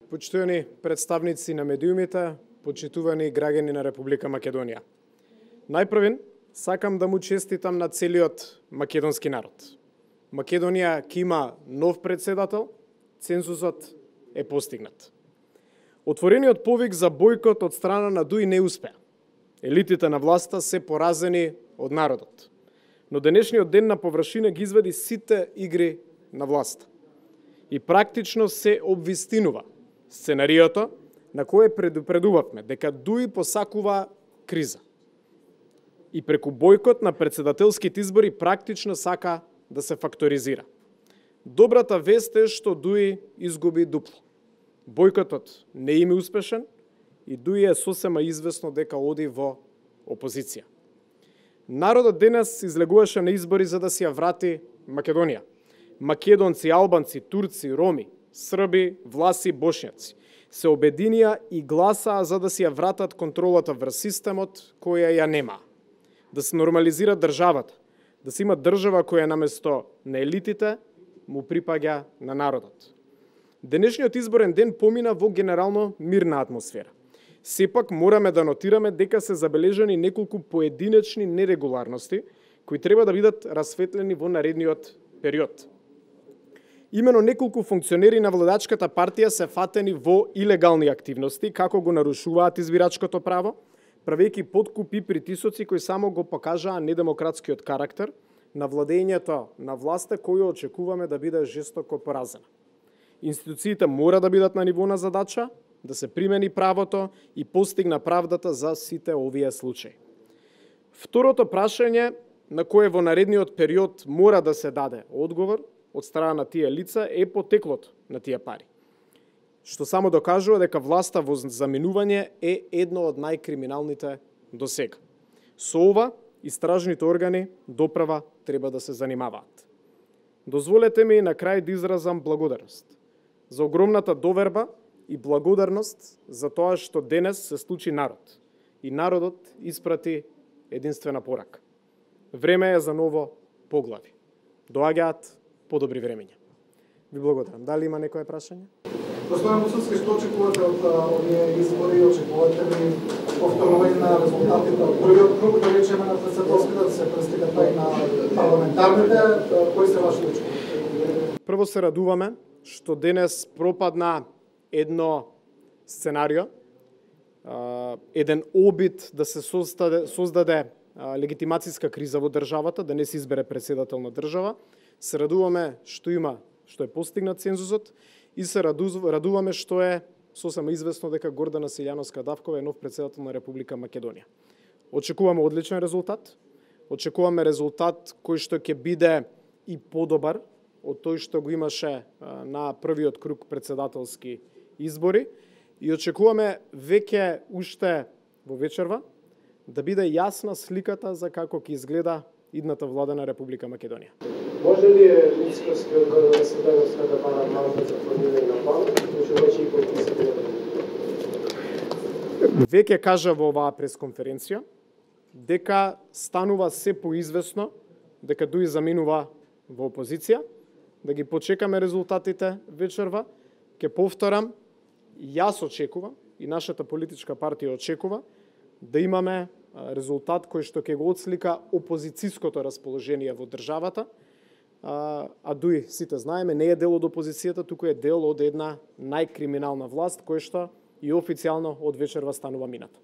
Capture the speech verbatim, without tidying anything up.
Почитувани представници на медиумите, почитувани граѓани на Република Македонија. Најпрвен, сакам да му честитам на целиот македонски народ. Македонија ќе има нов председател, цензусот е постигнат. Отворениот повик за бојкот од страна на ДУИ не успеа. Елитите на власта се поразени од народот. Но денешниот ден на површина ги извади сите игри на власта. И практично се обвистинува сценариото на кое предупредувавме дека ДУИ посакува криза. И преку бојкот на председателските избори практично сака да се факторизира. Добрата вест е што ДУИ изгуби дупло. Бојкотот не им е успешен и ДУИ е сосема известно дека оди во опозиција. Народот денес излегуваше на избори за да си ја врати Македонија. Македонци, албанци, турци, роми, срби, власи, бошњаци се обединија и гласаа за да си ја вратат контролата врз системот која ја нема. Да се нормализира државата, да се има држава која наместо на елитите му припаѓа на народот. Денешниот изборен ден помина во генерално мирна атмосфера. Сепак мораме да нотираме дека се забележани неколку поединечни нерегуларности кои треба да бидат расветлени во наредниот период. Имено неколку функционери на владачката партија се фатени во илегални активности, како го нарушуваат избирачкото право, правејќи подкупи притисоци кои само го покажаа недемократскиот карактер на владењето на власта кој очекуваме да биде жестоко поразена. Институциите мора да бидат на ниво на задача, да се примени правото и постигна правдата за сите овие случаи. Второто прашање на кое во наредниот период мора да се даде одговор од страна на тие лица е потеклото на тие пари, што само докажува дека власта во заминување е едно од најкриминалните до сега. Со ова, истражните органи доправа треба да се занимаваат. Дозволете ми на крај да изразам благодарност за огромната доверба и благодарност за тоа што денес се случи народ и народот испрати единствена порака. Време е за ново поглави. Доаѓаат подобри времења. Ви благодарам. Дали има некое прашање? Господин Муцовски, што очекувате од овие избори? Очекувате ли повторување на резултатите од првиот круг, да речеме на председателските, да се пристигат и на парламентарните? Кои се ваши очекувања? Прво се радуваме што денес пропадна едно сценарио, еден обид да се создаде, создаде легитимацијска криза во државата, да не се избере председател на држава. Се радуваме што има, што е постигнат цензусот и се радуваме што е сосема известно дека Гордана Силјановска-Давкова е нов председател на Република Македонија. Очекуваме одличен резултат, очекуваме резултат кој што ќе биде и подобар од тој што го имаше на првиот круг председателски избори и очекуваме веќе уште во вечерва да биде јасна сликата за како ќе изгледа идната влада на Република Македонија. Може ли е искрски одговор да се даде да пара малку за формирање на план, што веќе и подписано? Веќе кажа во оваа пресконференција дека станува се поизвестно дека ДУИ заминува во опозиција, да ги почекаме резултатите вечерва. Ке повторам, јас очекувам и нашата политичка партија очекува да имаме резултат кој што ќе го отслика опозицијското расположение во државата, а ДУИ, сите знаеме, не е дел од опозицијата, туку е дел од една најкриминална власт која што и официјално од вечерва станува мината.